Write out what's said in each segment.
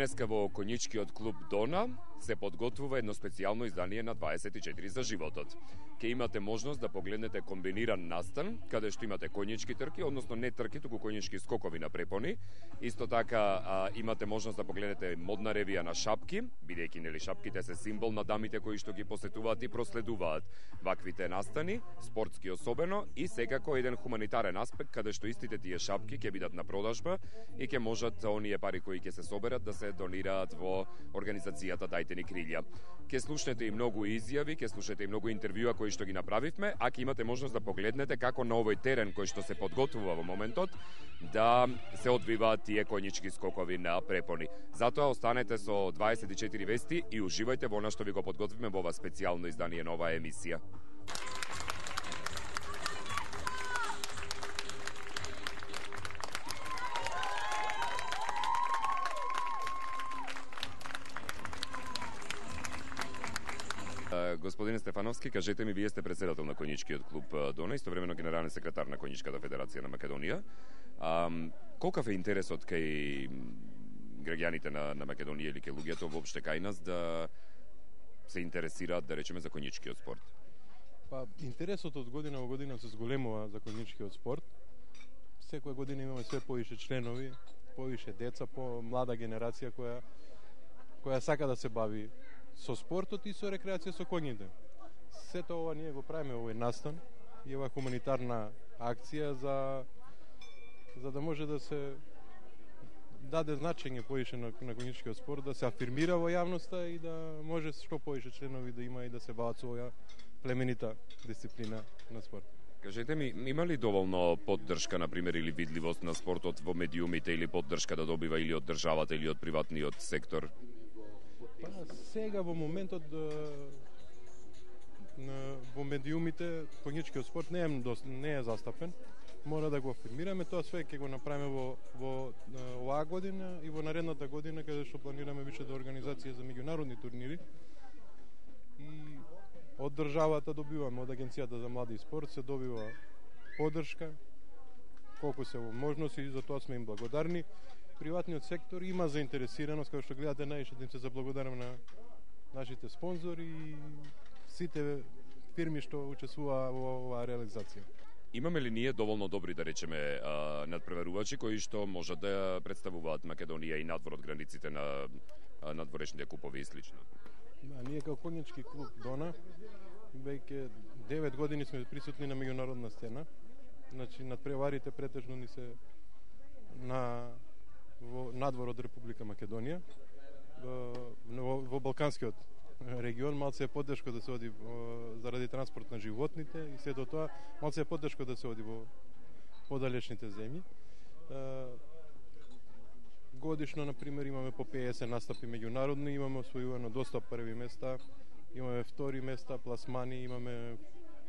Денеска во Коњичкиот клуб Дона се подготвува едно специјално издание на 24 за животот. Ке имате можност да погледнете комбиниран настан, каде што имате коњички трки, односно не трки, туку коњички скокови на препони. Исто така имате можност да погледнете модна ревија на шапки, бидејќи нели шапките се символ на дамите кои што ги посетуваат и проследуваат ваквите настани, спортски особено, и секако еден хуманитарен аспект каде што истите тие шапки ќе бидат на продажба и ќе можат оние пари кои ќе се соберат да се донираат во организацијата Дајте ни крилја. Ке слушнете и многу изјави, ке слушнете и многу интервјуа кои што ги направивме, а ќе имате можност да погледнете како на овој терен кој што се подготвува во моментот да се одвиваат тие коњички скокови на препони. Затоа останете со 24 вести и уживајте во она што ви го подготвиме во ова специјално издание на оваа емисија. Господин Стефановски, кажете ми, вие сте председател на Коњичкиот клуб Дона, истовремено генерален секретар на Коњичката федерација на Македонија. Колкав е интересот кај граѓаните на Македонија или кај луѓето воопште кај нас да се интересираат, да речеме, за коњичкиот спорт? Па, интересот од година во година се зголемува за коњичкиот спорт. Секоја година имаме све повише членови, повише деца, по-млада генерација која сака да се бави со спортот и со рекреација со коњите. Сето ова ние го правиме овој настан и ова хуманитарна акција за да може да се даде значење повише на коњичкиот спорт, да се афирмира во јавноста и да може што повише членови да има и да се бават со оваа племенита дисциплина на спорт. Кажете ми, има ли доволно поддршка, например, или видливост на спортот во медиумите, или поддршка да добива или од државата или од приватниот сектор? Па, сега во моментот во медиумите коњичкиот спорт не е застапен. Мора да го афирмираме, тоа све ќе го направиме во оваа година и во наредната година, каде што планираме више да организација за меѓународни турнири. И од државата добиваме, од Агенцијата за млади и спорт се добива поддршка колку се можности и за тоа сме им благодарни. Приватниот сектор има заинтересираност, како што гледате, најше да им се заблагодарам на нашите спонзори и сите фирми што учествуваа во оваа реализација. Имаме ли ние доволно добри, да речеме, надпреварувачи кои што можат да представуваат Македонија и надвор од границите на надворешните купови и слично? Да, ние како Коњички клуб Дона веќе 9 години сме присутни на меѓународна сцена. Значи надпреварите претежно ни се во надвор од Република Македонија, во Балканскиот регион. Малце е подтешко да се оди заради транспорт на животните и се до тоа малце е подтешко да се оди во подалечните земји. Годишно, например, имаме по 50 настапи меѓународни, имаме освојувано доста први места, имаме втори места, пласмани, имаме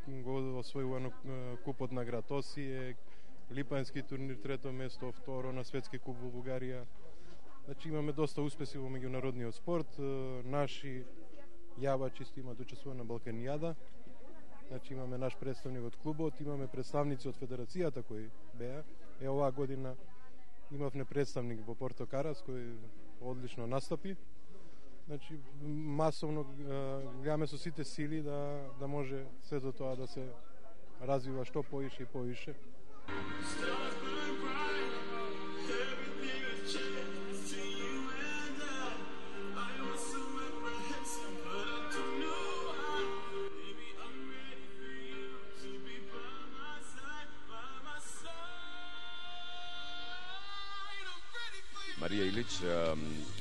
освојувано купот на град Осијек, Липански турнир трето место, второ на светски куп во Бугарија. Значи имаме доста успеси во меѓународниот спорт. Наши јавачи исто имаат учествувано на Балканијада. Значи имаме наш представник од клубот, имаме представници од федерацијата кои беа. Оваа година имавме представник во Порто Карас кој одлично настапи. Значи масовно гледаме со сите сили да може сето тоа да се развива што повише и повише. Марија Илич,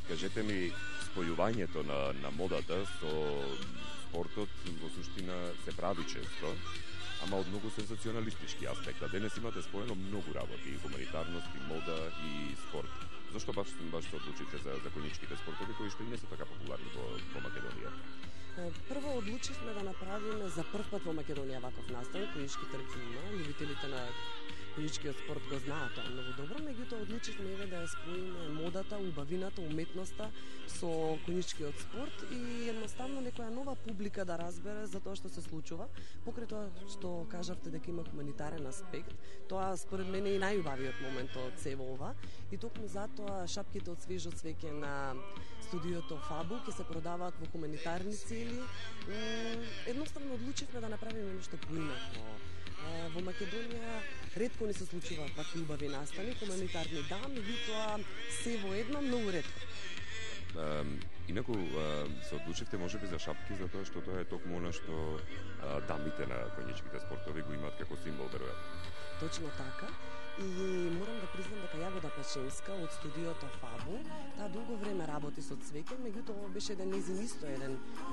кажете ми, спојувањето на модата со спортот во суштина се прави често, ама од многу сензационалистички аспект. А денес имате споено многу работи, и хуманитарност, и мода, и спорт. Зошто баш се одлучите за коњичките спортови кои што и не се така популарни во Македонија? Прво одлучивме да направиме за прв пат во Македонија ваков настан, коњички трки има, љубителите на конјичкиот спорт го знаат тоа многу добро, меѓутоа одлучивме еве да ја споиме модата, убавината, уметноста со конјичкиот спорт и едноставно некоја нова публика да разбере за тоа што се случува. Покрај тоа што кажавте дека има хуманитарен аспект, тоа според мене е и најубавиот момент од сево ова и токму затоа шапките од свежо цвеќе на студиото Фабу ќе се продаваат во хуманитарни цели. Едноставно одлучивме да направиме нешто поинакво. Во Македонија ретко не се случуваат вакви убави настани, хуманитарни да, меѓутоа се во едно многу ретко. Инаку се одлучивте можеби за шапки затоа што тоа е токму она што дамите на конјичките спортови го имаат како символ, веројатно. Точно така. И морам да признам дека Јагода Пачинска од студиото Фабу, таа долго време работи со цвеќе, меѓутоа ова беше еден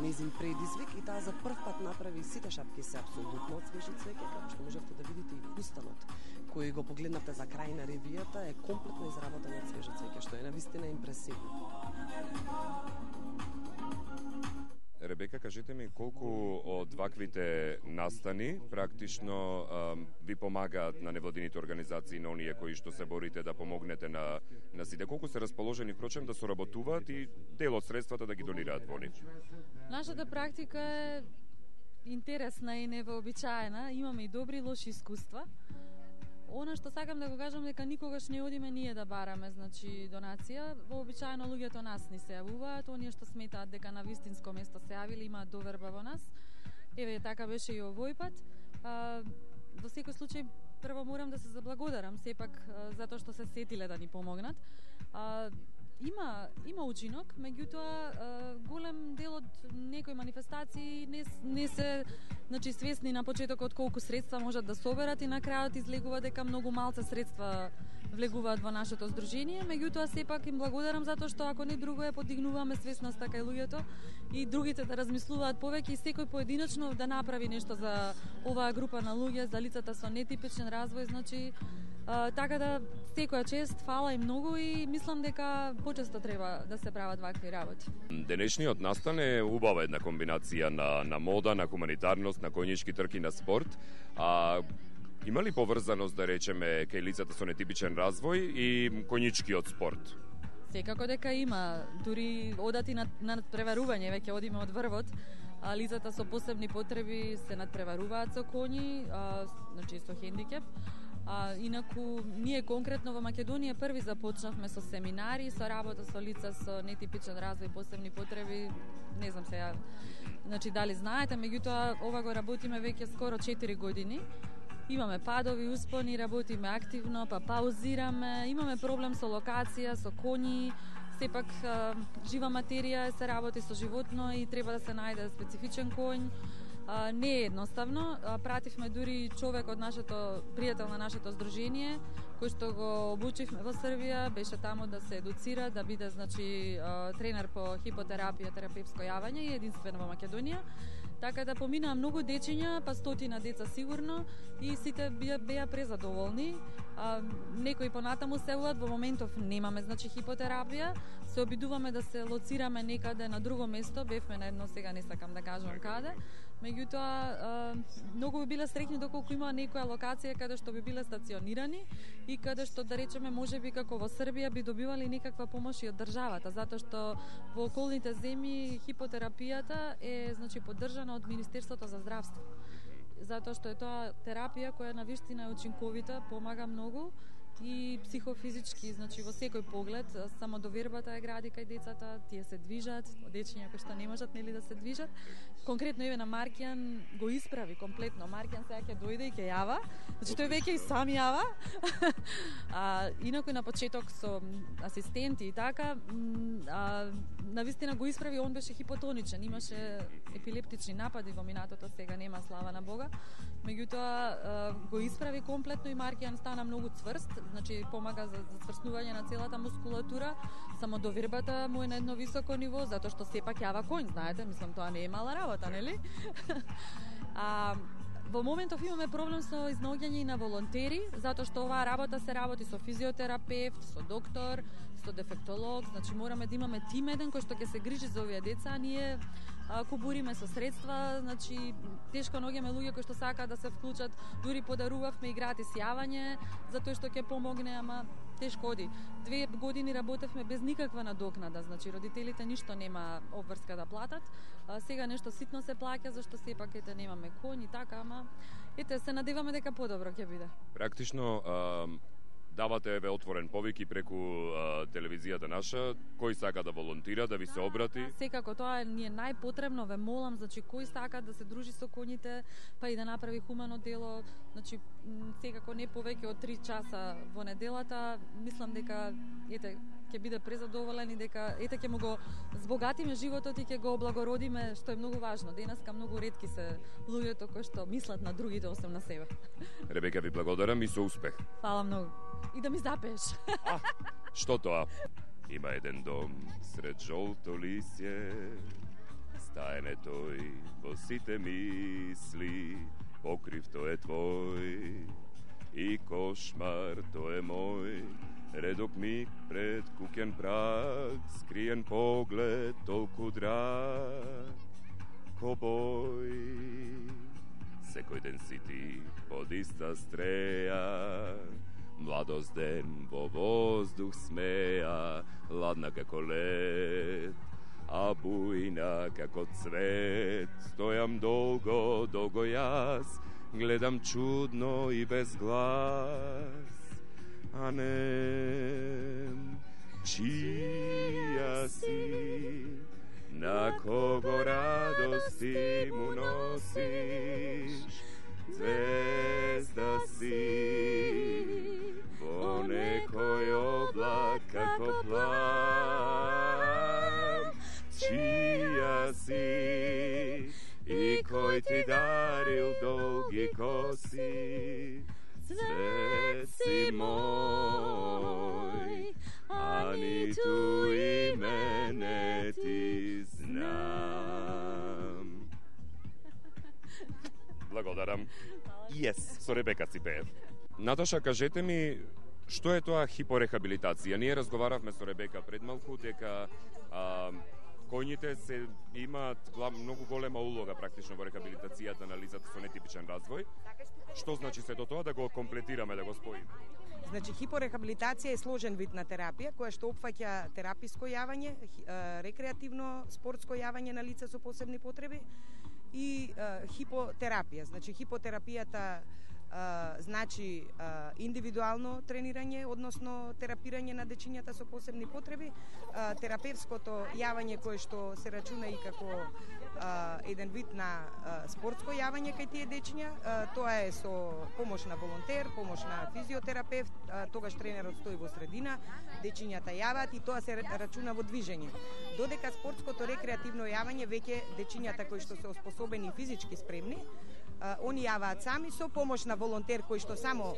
незин предизвик и таа за прв пат направи сите шапки се апсолутно од свежо цвеќе, како што можевте да видите и фустанот кој го погледнавте за крај на ревијата е комплетно изработен од свежо цвеќе, што е навистина импресивно. Ребека, кажете ми колку од ваквите настани практично ви помагаат на невладините организации, на оние кои што се борите да помогнете на сите, колку се расположени впрочем да соработуваат и дел од средствата да ги донираат во нив? Нашата практика е интересна и невообичаена, имаме и добри и лоши искуства. Она што сакам да го кажам дека никогаш не одиме ние да бараме, значи донација. Вообичаено луѓето нас ни се јавуваат, оние што сметаат дека на вистинско место се јавили имаат доверба во нас. Еве така беше и овој пат. Во секој случај прво морам да се заблагодарам сепак затоа што се сетиле да ни помогнат. Има учинок, меѓутоа голем дел од некои манифестации не се свесни на почетокот колку средства можат да соберат и на крајот излегува дека многу малце средства влегуваат во нашето здружение, меѓутоа сепак им благодарам затоа што ако не друго е подигнуваме свесноста кај луѓето и другите да размислуваат повеќе и секој поединечно да направи нешто за оваа група на луѓе, за лицата со нетипичен развој, значи така да секоја чест, фала и многу и мислам дека почесто треба да се прават вакви работи. Денешниот настан е убава една комбинација на мода, на хуманитарност, на конјички трки, на спорт. Има ли поврзаност, да речеме, кај лицата со нетипичен развој и конјичкиот спорт? Секако дека има, дури одати на надпреварување, веќе одиме од врвот, лицата со посебни потреби се надпреваруваат со коњи, значи со хендикеп. Инаку, ние конкретно во Македонија први започнавме со семинари, со работа со лица со нетипичен развој, посебни потреби, не знам сега, значи дали знаете, меѓутоа ова го работиме веќе скоро 4 години. Имаме падови, успони, работиме активно, па паузираме, имаме проблем со локација, со коњи, сепак жива материја се работи со животно и треба да се најде специфичен конј. Не е едноставно. Пративме дури човек од нашето пријател на нашето здружение, кој што го обучивме во Србија, беше таму да се едуцира, да биде значи тренер по хипотерапија, терапевско јавање и единствен во Македонија. Така да поминаа многу дечиња, па стотина деца сигурно и сите беа презадоволни. Некои понатаму се јавуваат, во моментов немаме значи хипотерапија, се обидуваме да се лоцираме некаде на друго место, бевме на едно, сега не сакам да кажам каде. Меѓутоа, многу би биле среќни доколку има некоја локација каде што би биле стационирани и каде што, да речеме, можеби како во Србија би добивали некаква помош и од државата, затоа што во околните земји хипотерапијата е значи поддржана од Министерството за здравство. Затоа што е тоа терапија која на вистина е учинковита, помага многу и психофизички, значи во секој поглед, самодовербата е гради кај децата, тие се движат, дечиња кои што не можат нели да се движат. Конкретно еве на Маркијан го исправи комплетно. Маркијан сега ќе дојде и ќе јава, значи тој веќе и сам јава. Инаку на почеток со асистенти и така, навистина го исправи, он беше хипотоничен, имаше епилептични напади во минатото, сега нема, слава на Бога. Меѓутоа го исправи комплетно и Маркијан стана многу цврст, значи помага за цврстнување на целата мускулатура, самодовербата му е на едно високо ниво, затоа што сепак јава конј, знаете, мислам тоа не е мала работа, нели? Во моментов имаме проблем со изнаоѓање на волонтери, затоа што оваа работа се работи со физиотерапевт, со доктор, со дефектолог, значи мораме да имаме тим еден кој што ќе се грижи за овие деца, а ние кубуриме со средства, значи тешко наоѓаме луѓе кои што сакаат да се вклучат, дури подарувавме и гратис јавање, затоа што ќе помогне, ама тешко оди. 2 години работевме без никаква надокнада, значи родителите ништо нема обврска да платат. Сега нешто ситно се плаќа, зашто сепак ете немаме коњ и така, ама ете се надеваме дека подобро ќе биде. Практично давате отворен повик и преку телевизијата наша, кој сака да волонтира, да ви се обрати? Секако, тоа ни е најпотребно, ве молам, значи кој сака да се дружи со коњите, па и да направи хумано дело, значи секако не повеќе од 3 часа во неделата, мислам дека ете ќе биде презадоволен и дека ете ќе му го збогатиме животот и ќе го облагородиме, што е многу важно. Денеска многу ретки се луѓето кои што мислат на другите освен на себе. Ребека, ви благодарам и со успех. Фала многу. И да ми запееш. Што тоа? Има еден дом сред жолто лисје, стаен е тој во сите мисли, покрив тој е твој и кошмар тој е мој. Редок миг пред куќен праг, скриен поглед толку драг, ко бој. Секој ден си ти под иста стреја, младост ден во воздух смеја, ладна како лед, а бујна како цвет. Стојам долго, долго јас, гледам чудно и без глас, а не чија си, на кого радости му носиш, звезда си, во некој облак како плам, чија си и кој ти дарил долги коси, свет си мој, а ниту име не ти знам. Благодарам. Yes. Со Ребека си пеев. Наташа, кажете ми, што е тоа хипорехабилитација? Ние разговаравме со Ребека пред малку дека коњите се имаат многу голема улога практично во рехабилитацијата на лицата со нетипичен развој. Што значи сето тоа, да го комплетираме, да го споиме? Значи, хипорехабилитација е сложен вид на терапија, која што опфаќа тераписко јавање, рекреативно, спортско јавање на лица со посебни потреби и хипотерапија. Значи, хипотерапијата значи индивидуално тренирање, односно терапирање на дечињата со посебни потреби, терапевското јавање кое што се рачуна и како еден вид на спортско јавање кај тие дечиња, тоа е со помош на волонтер, помош на физиотерапевт, тогаш тренерот стои во средина, дечињата јават и тоа се рачуна во движење. Додека спортското рекреативно јавање веќе дечињата кои што се оспособени и физички спремни, они јаваат сами со помош на волонтер кој што само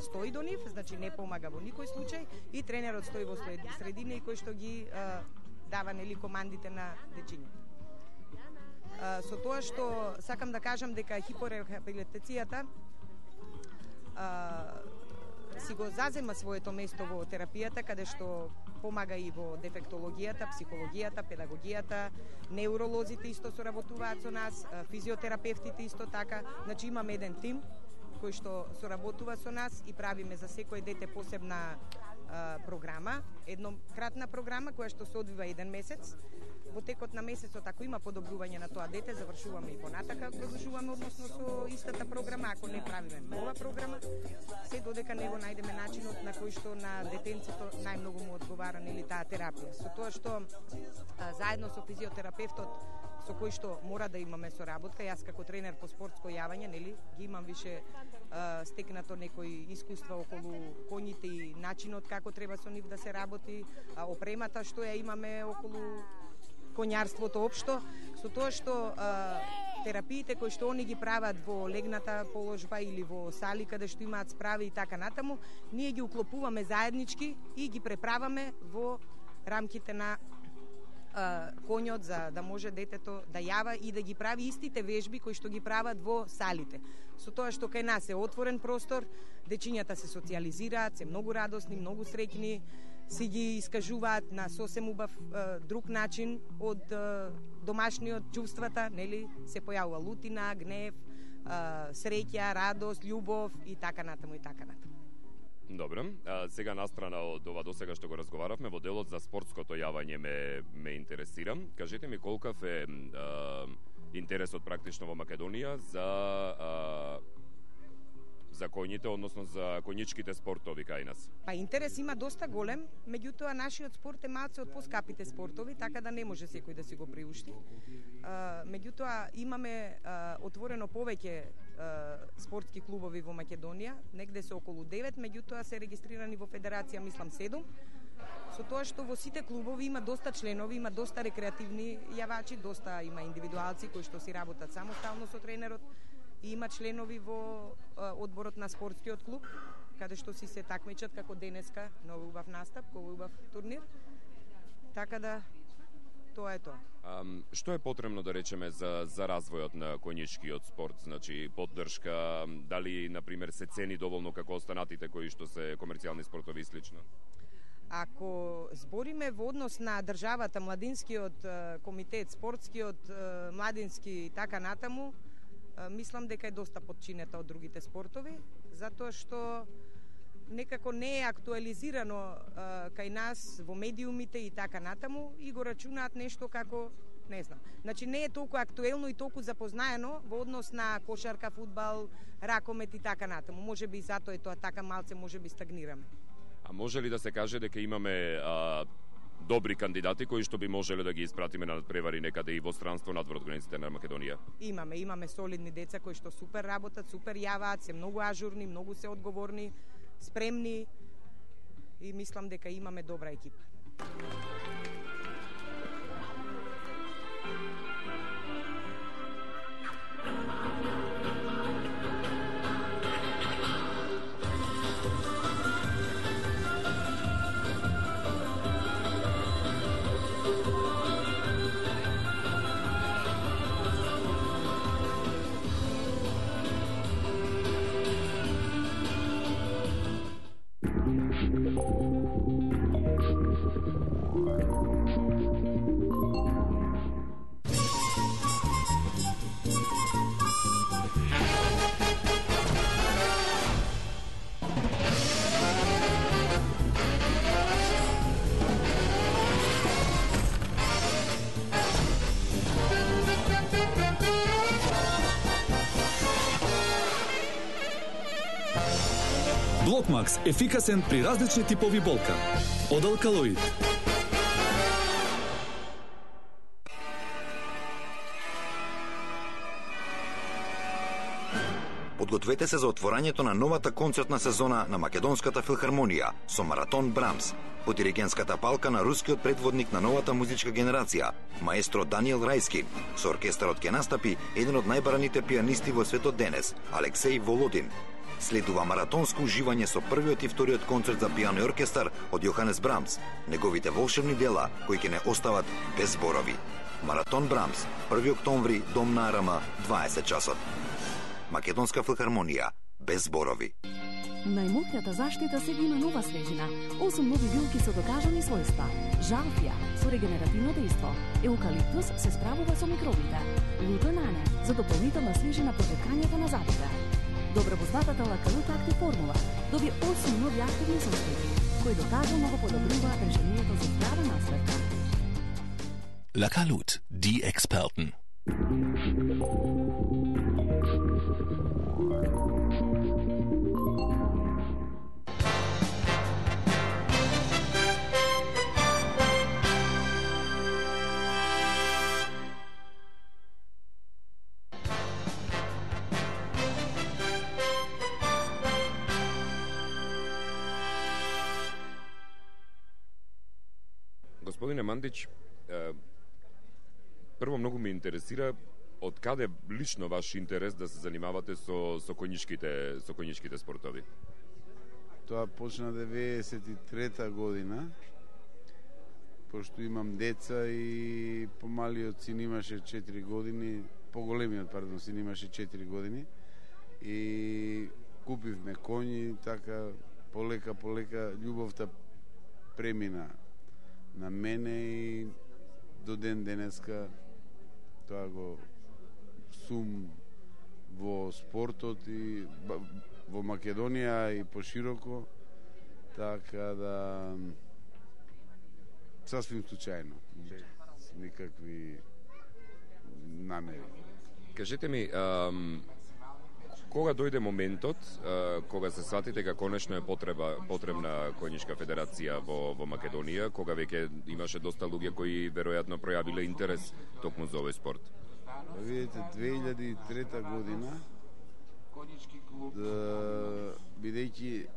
стои до нив, значи не помага во никој случај, и тренерот стои во средина и кој што ги дава нели командите на дечињата. Со тоа што сакам да кажам дека хипорехабилитацијата си го зазема своето место во терапијата, каде што помага и во дефектологијата, психологијата, педагогијата, неуролозите исто соработуваат со нас, физиотерапевтите исто така. Значи имаме еден тим кој што соработува со нас и правиме за секој дете посебна програма, еднократна програма која што се одвива еден месец. Во текот на месецот, ако има подобрување на тоа дете, завршуваме и понатака, продолжуваме односно со истата програма, ако не правиме нова програма, се додека не го најдеме начинот на кој што на детенцето најмногу му одговара нели таа терапија. Со тоа што заедно со физиотерапевтот со кој што мора да имаме соработка, јас како тренер по спортско јавање, нели, ги имам више стекнато некои искуства околу коњите и начинот како треба со нив да се работи, опремата што ја имаме околу коњарството општо, со тоа што терапиите кои што они ги прават во легната положба или во сали каде што имаат справи и така натаму, ние ги уклопуваме заеднички и ги преправаме во рамките на конјот, за да може детето да јава и да ги прави истите вежби кои што ги прават во салите. Со тоа што кај нас е отворен простор, дечињата се социјализираат, се многу радосни, многу среќни, си ги искажуваат на сосем убав друг начин од домашниот чувствата, нели, се појавува лутина, гнев, среќа, радост, љубов и така натаму и така натаму. Добро, сега настрана од ова досега што го разговаравме, во делот за спортското јавање ме интересира. Кажете ми колкав е интересот практично во Македонија за коњите, односно за коњичките спортови кај нас? Па интерес има доста голем, меѓутоа нашиот спорт е малце од поскапите спортови, така да не може секој да си го приушти. Меѓутоа имаме отворено повеќе спортски клубови во Македонија, негде се околу 9, меѓутоа се регистрирани во Федерација, мислам 7. Со тоа што во сите клубови има доста членови, има доста рекреативни јавачи, доста има индивидуалци кои што си работат самостално со тренерот, и има членови во одборот на спортскиот клуб, каде што си се такмичат како денеска на овој убав настап, овој убав турнир. Така да тоа е тоа. Што е потребно да речеме за развојот на коњичкиот спорт? Значи поддршка, дали на пример се цени доволно како останатите кои што се комерцијални спортови и слично? Ако збориме во однос на државата, младинскиот комитет, спортскиот, младински и така натаму, мислам дека е доста подчинета од другите спортови, затоа што некако не е актуализирано кај нас во медиумите и така натаму и го рачунаат нешто како, не знам. Значи не е толку актуелно и толку запознаено во однос на кошарка, фудбал, ракомет и така натаму. Можеби и затоа е тоа така малце, можеби стагнираме. А може ли да се каже дека имаме добри кандидати кои што би можеле да ги испратиме на надпревари некаде и во странство надвор од границите на Македонија? Имаме солидни деца кои што супер работат, супер јаваат, се многу ажурни, многу се одговорни, спремни и мислам дека имаме добра екипа. Блокмакс – ефикасен при различни типови болка. Од алкалоид. Подгответе се за отворањето на новата концертна сезона на Македонската филхармонија со Маратон Брамс, по диригентската палка на рускиот предводник на новата музичка генерација, маестро Даниел Рајски. Со оркестарот ќе настапи еден од најбараните пианисти во светот денес, Алексеј Володин. Следува маратонско уживање со првиот и вториот концерт за пијано и оркестар од Јоханес Брамс, неговите волшебни дела кои ќе не остават без зборови. Маратон Брамс, 1 октомври, Дом на Арама, 20 часот. Македонска филхармонија, без зборови. Најмократа заштита сега има нова свежина. 8 нови билки со докажани својства. Жалфија со регенеративно дејство. Еукалиптус се справува со микробите. Лутонане за дополнителна свежина по ткањето на зъбите. Добропознатата Лакалут Актив формула доби 8 нови активни состојби, кои докажано го подобрува држанието за здрава наследка. Lakalut, die Experten. Господине Мандич, прво многу ме интересира од каде лично ваш интерес да се занимавате со коњичките спортови? Тоа почна 93-та година. пошто имам деца и помалиот син имаше 4 години, поголемиот, пардон, син имаше 4 години и купивме коњи, така полека љубовта премина на мене и до ден денеска тоа го сум во спортот и во Македонија и пошироко, така да сасвим случајно, без никакви намери. Кажете ми, кога дојде моментот, кога се сватите дека конечно е потребна коњичка федерација во Македонија, кога веќе имаше доста луѓе кои веројатно пројавиле интерес токму за овој спорт? Видите, 2003 година, бидејќи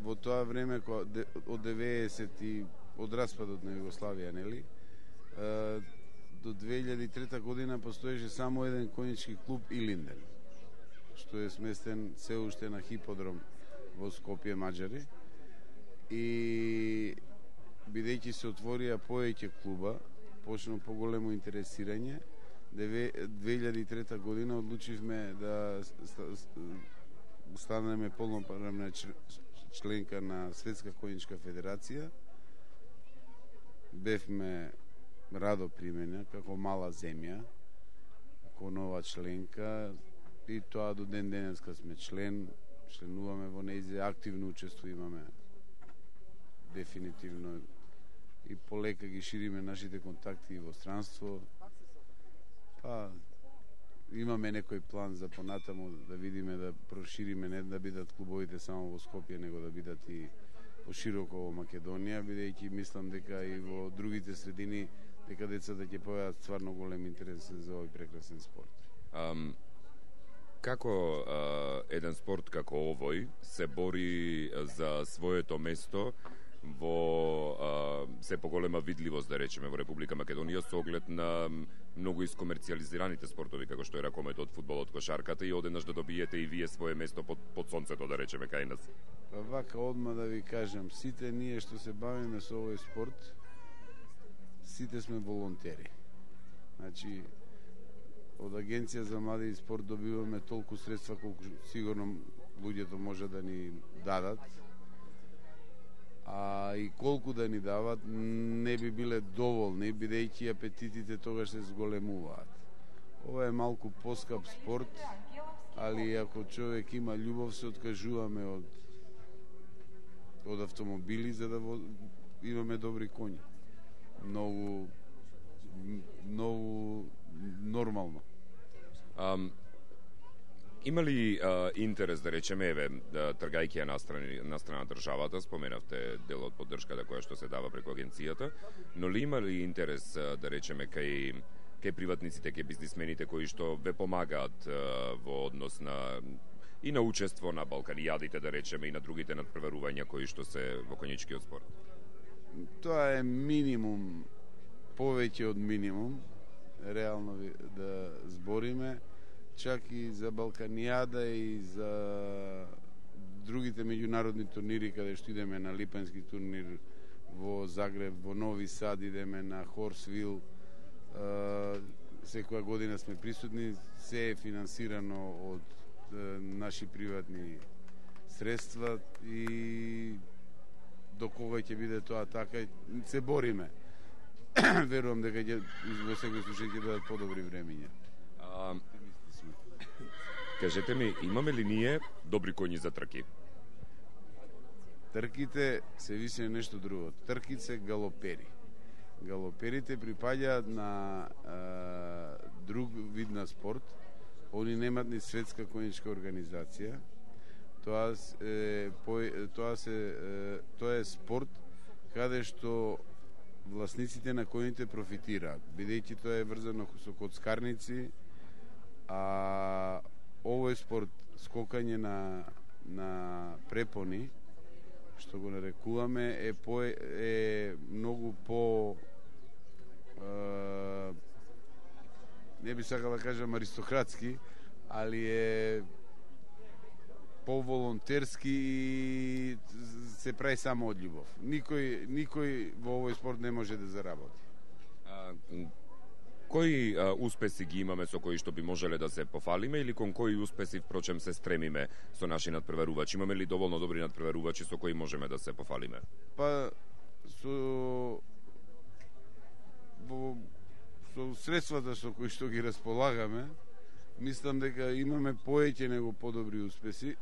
во тоа време од 90 и од распадот на Југославија, нели? До 2003 година постоеше само еден коњички клуб Илинден, што е сместен се уште на хиподром во Скопје, Маđари. И бидејќи се отворија повеќе клуба, почна поголемо интересирање. 2003 година одлучивме да станеме полноправна членка на Светска коњичка федерација. Бевме радо примени како мала земја, како нова членка, и тоа до ден денеска сме членуваме во нејзе, активно учествуваме дефинитивно и полека ги шириме нашите контакти во странство. Па имаме некој план за понатаму да видиме да прошириме, не да бидат клубовите само во Скопје, него да бидат и пошироко во Македонија, бидејќи мислам дека и во другите средини дека децата ќе појават стварно голем интерес за овој прекрасен спорт. Како еден спорт како овој се бори за своето место во се поголема видливост, да речеме, во Република Македонија со оглед на многу искомерцијализираните спортови како што е ракометот, фудбалот, кошарката и одеднаш да добиете и вие свое место под сонцето, да речеме, кај нас? Па вака одма да ви кажам, сите ние што се бавиме со овој спорт, сите сме волонтери. Значи, од Агенција за млади и спорт добиваме толку средства колку сигурно луѓето може да ни дадат. А и колку да ни дават, не би биле доволни, бидејќи апетитите тогаш се зголемуваат. Ова е малку поскап спорт, али ако човек има љубов, се откажуваме од автомобили за да имаме добри коњи. Многу нормално. Има ли интерес, да речеме, тргајќи ја на страна државата, споменавте дел од поддршката која што се дава преку агенцијата, но ли има ли интерес, да речеме, кај приватниците, кај бизнисмените кои што ве помагаат во однос и на учество на Балканијадите, да речеме, и на другите надпреварувања кои што се во коњичкиот спорт? Тоа е минимум, повеќе од минимум, реално да збориме, чак и за Балканијада и за другите меѓународни турнири, каде што идеме на Липански турнир во Загреб, во Нови Сад, идеме на Хорсвил, секоја година сме присутни, се е финансирано од наши приватни средства и до кога ќе биде тоа така, се бориме. Верувам дека во секој случај ќе бидат подобри времиња. Кажете ми, имаме ли ние добри коњи за трки? Трките се више нешто друго. Трките се галопери. Галоперите припаѓаат на друг вид на спорт. Они немат ни светска коњичка организација. Тоа е спорт каде што власниците на коњите профитираат, бидејќи тоа е врзано со коцкарници, а овој спорт, скокање на препони, што го нарекуваме, е многу по не би сакал да кажам аристократски, али поволонтерски и се прави само од љубов. Никој во овој спорт не може да заработи. Кои успеси ги имаме со кои што би можеле да се пофалиме или кон кои успеси впрочем се стремиме со наши надпреварувачи? Имаме ли доволно добри надпреварувачи со кои можеме да се пофалиме? Па со средствата со кои што ги располагаме, мислам дека имаме поеќе него подобри успеси.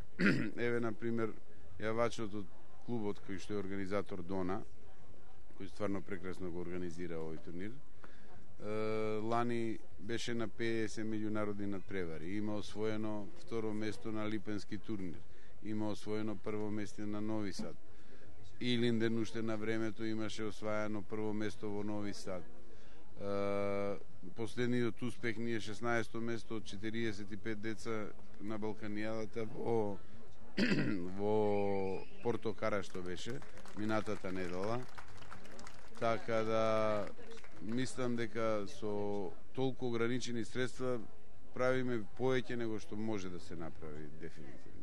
Еве, например, јавачот од клубот кој што е организатор Дона, кој стварно прекрасно го организира овој турнир, лани беше на 50 меѓународни надпревари. Има освоено второ место на Липенски турнир. Има освоено прво место на Нови Сад. Илинден уште на времето имаше освајано прво место во Нови Сад. Последниот успех ни е 16-то место од 45 деца на Балканијадата во Порто Карашто беше минатата недела. Така да мислам дека со толку ограничени средства правиме поеќе него што може да се направи дефинитивно.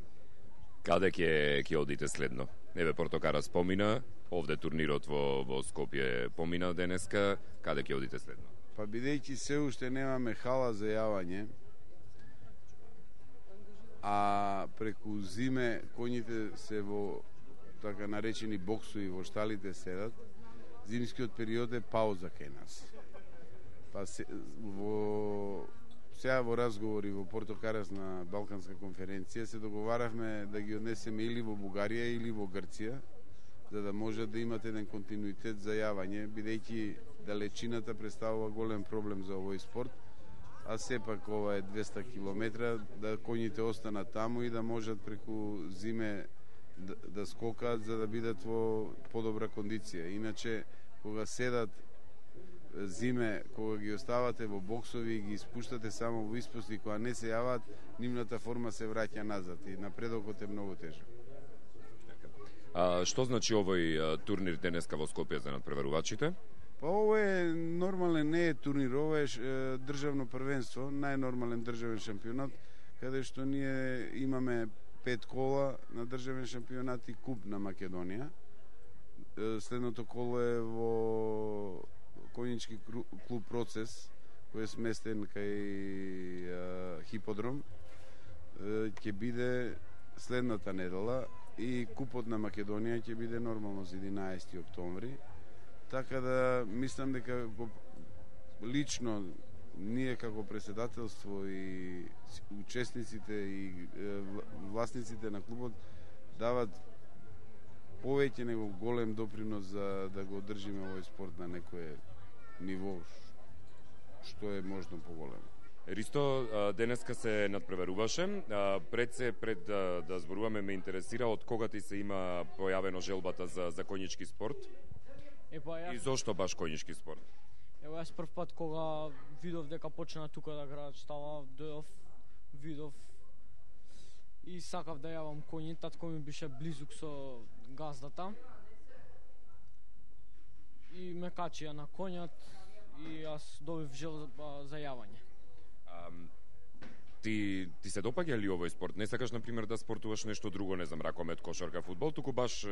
Каде ќе одите следно? Еве, Портокара спомина, овде турнирот во Скопје помина денеска, каде ќе одите следно? Па бидејќи се уште немаме хала за јавање, а преку зиме коњите се во така наречени боксови во шталите седат, зимскиот период е пауза кај нас. Па сега во разговори во Порто Карас на Балканска конференција се договаравме да ги однесеме или во Бугарија или во Грција, за да може да имате еден континуитет за јавање, бидејќи далечината представува голем проблем за овој спорт, а сепак ова е 200 километра, да коњите останат таму и да можат преку зиме да скокаат за да бидат во подобра кондиција. Иначе, кога седат зиме, кога ги оставате во боксови и ги испуштате само во испусти, кога не се јават, нивната форма се враќа назад и напредокот е многу тежок. Што значи овој турнир денеска во Скопје за надпреварувачите? Па ово е нормален, не е турнир, ово е државно првенство, најнормален државен шампионат, каде што ние имаме 5 кола на државен шампионат и куп на Македонија. Следното коло е во конјички клуб Процес, кој е сместен кај Хиподром. Ќе биде следната недела и купот на Македонија ќе биде нормално за 11 октомври. Така да мислам дека лично ние како претседателство и учесниците и власниците на клубот дават повеќе него голем допринос за да го одржиме овој спорт на некое ниво што е можно поголемо. Ристо, денеска се надпреваруваше. Пред да зборуваме, ме интересира од кога ти се има појавено желбата за коњички спорт? И зошто баш коњички спорт? Ево, јас прв пат кога видов дека почна тука да граат штала, дојдов, видов и сакав да јавам коњи. Татко ми беше близук со газдата и ме качија на коњот и јас добив желба за јавање. Ти се допаѓа ли овој спорт? Не сакаш, например, да спортуваш нешто друго, не знам, ракомет, кошарка, фудбал, туку баш...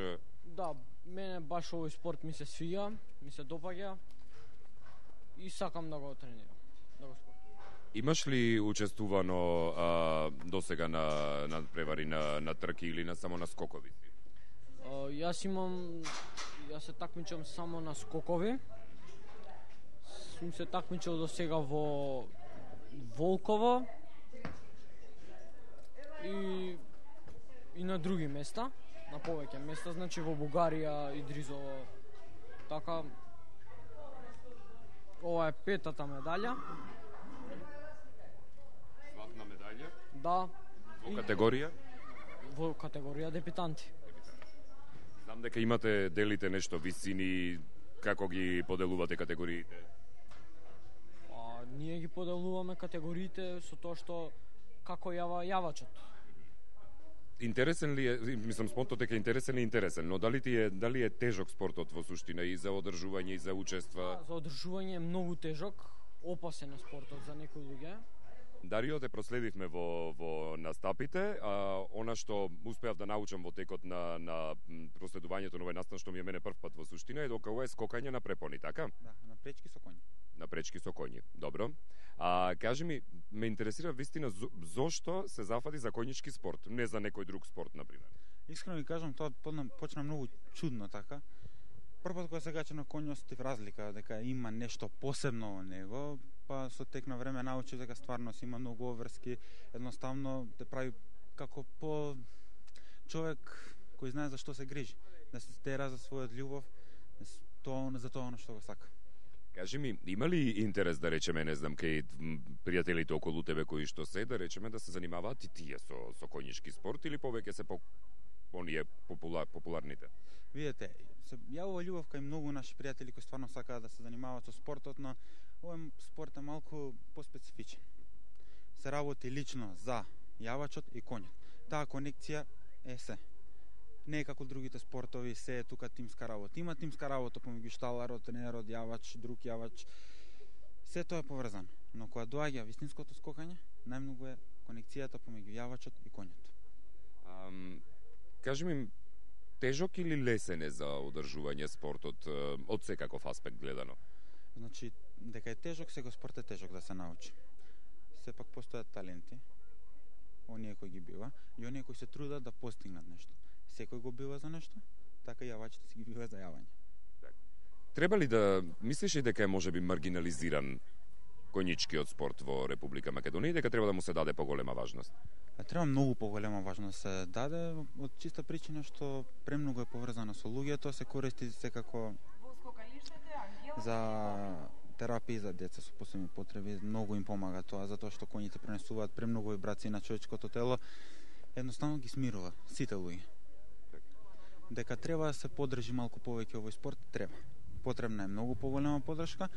Да, мене баш овој спорт ми се свија, ми се допаѓа и сакам да го тренирам, да го спортувам. Имаш ли учествувано досега на превари на трки или само на скокови? Јас се такмичам само на скокови. Сум се такмичал до сега во Волково и на други места, на повеќе места, значи во Бугарија и Дризово. Така, ова е 5-та медаља. Златна медаља? Да. Во категорија? Во категорија дебитанти. Знам дека делите нешто висини, како ги поделувате категориите? Ние ги поделуваме категориите со тоа што како јава јавачот. Интересен ли е, мислам, спортот дека интересен и интересен, но дали е тежок спортот во суштина и за одржување и за учества? За одржување е многу тежок, опасен е спортот за некои луѓе. Дарио, те проследивме во настапите, она што успеав да научам во текот на проследувањето на овој настан, што ми е мене прв пат во суштина, е дека ова е скокање на препони, така? Да, на пречки со коњи. На пречки со коњи, добро. Кажи ми, ме интересира вистина зошто се зафади за коњички спорт, не за некој друг спорт, например? Искрено ви кажам, тоа почна многу чудно, така. Првпат кога се кача на коњ осетив разлика, дека има нешто посебно во него, па со тек на време научив дека стварно си има многу обврски, едноставно те прави како по човек кој знае за што се грижи, да се стера за својот љубов, за тоа што го сака. Кажи ми, има ли интерес, да речеме, не знам, кај пријателите околу тебе кои што се, да речеме, да се занимаваат и тие со коњички спорт или повеќе се оние популарните? Видете, се јавува љубов кај многу наши пријатели кои стварно сакаат да се занимаваат со спортот, но овој спорт е малку поспецифичен. Се работи лично за јавачот и коњот. Таа конекција е се. Не е како другите спортови, се е тука тимска работа. Има тимска работа помеѓу шталарот, тренерот, јавач, друг јавач. Се тоа е поврзано. Но кога доаѓа вистинското скокање, најмногу е конекцијата помеѓу јавачот и коњот. Кажи ми, тежок или лесен е за одржување спортот од секаков аспект гледано? Значи, дека е тежок, секој спорт е тежок да се научи. Сепак постојат таленти, оние кои ги бива, и оние кои се трудат да постигнат нешто. Секој го бива за нешто, така и јавачите си ги бива за јавање. Треба ли да мислиш и дека е можеби маргинализиран коњичкиот спорт во Република Македонија и дека треба да му се даде поголема важност? Треба многу поголема важност се даде од чиста причина што премногу е поврзано со луѓето, се користи секако за терапија за деца со посебни потреби, многу им помага тоа затоа што коњите пренесуваат премногу вибрации на човечкото тело, едноставно ги смирува сите луѓе. Дека треба да се подржи малку повеќе овој спорт, треба. Потребна е многу поголема поддршка.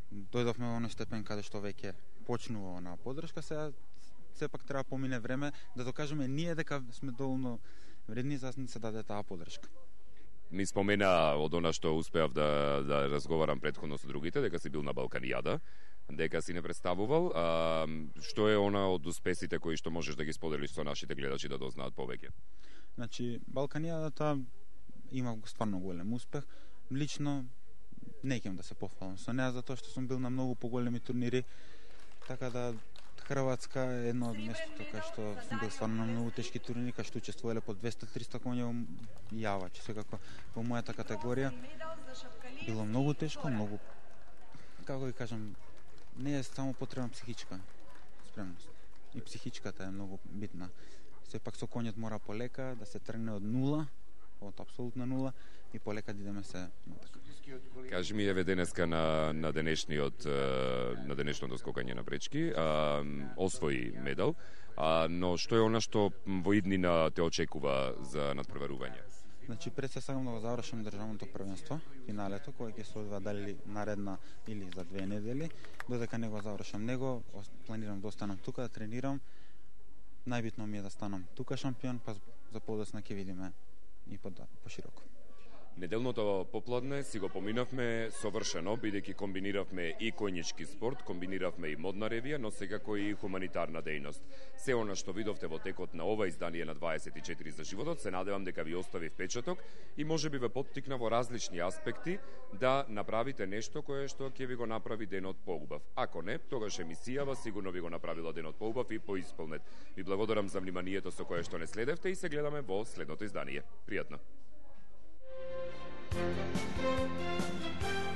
Дојдовме во оној степен каде што веќе почнува онаа поддршка, сега сепак треба помине време да докажеме ние дека сме доволно вредни за да се даде таа поддршка. Ми спомена од она што успеав да разговарам претходно со другите, дека си бил на Балканијада, дека си не представувал. Што е она од успесите кои што можеш да ги споделиш со нашите гледачи да дознаат повеќе? Значи, Балканијадата има стварно голем успех. Лично не ќе да се пофалам со неа, затоа што сум бил на многу поголеми турнири, така да Хрватска е едно од местото кај што сум бил стварно на многу тешки турнири, кај што учествувале по 200-300 коња јавачи. Секако во мојата категорија било многу тешко, многу, како ги кажам, не е само потребна психичка спремност. И психичката е многу битна. Сепак со коњот мора полека да се тргне од нула, од апсолутна нула, и полека да идеме се натака. Кажи ми, еве денеска на денешното скокање на пречки, освои медал, но што е она што во иднина те очекува за надпреварување? Значи, пред се сакам да го завршам државното првенство, финалето, кој ќе се одвива дали наредна или за 2 недели. Додека не го завршам него, планирам да останам тука, да тренирам. Најбитно ми е да станам тука шампион, па за подоцна ќе видиме и пошироко. Неделното попладне си го поминавме совршено, бидејќи комбиниравме и коњички спорт, комбиниравме и модна ревија, но секако и хуманитарна дејност. Се она што видовте во текот на ова издание на 24 за животот, се надевам дека ви остави впечаток и можеби ве поттикна во различни аспекти да направите нешто кое што ќе ви го направи денот поубав. Ако не, тогаш емисијава сигурно ви го направила денот поубав и поисполнет. Ви благодарам за вниманието со кое што не следевте и се гледаме во следното издание. Пријатно. Thank you.